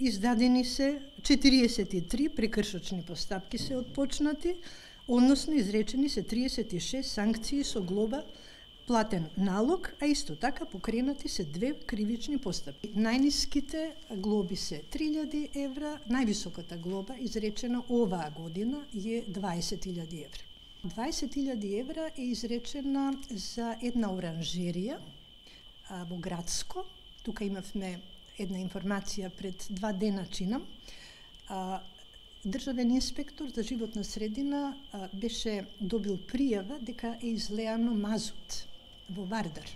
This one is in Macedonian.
издадени се 43 прекршочни постапки се отпочнати, односно изречени се 36 санкции со глоба, платен налог, а исто така покренати се 2 кривични постапки. Најниските глоби се 3000 евра, највисоката глоба изречена оваа година е 20.000 евра. 20.000 евра е изречена за една оранжерија во Градско. Тука имавме една информација пред 2 дена чинам. Државен инспектор за животна средина беше добил пријава дека е излеано мазут во Вардар.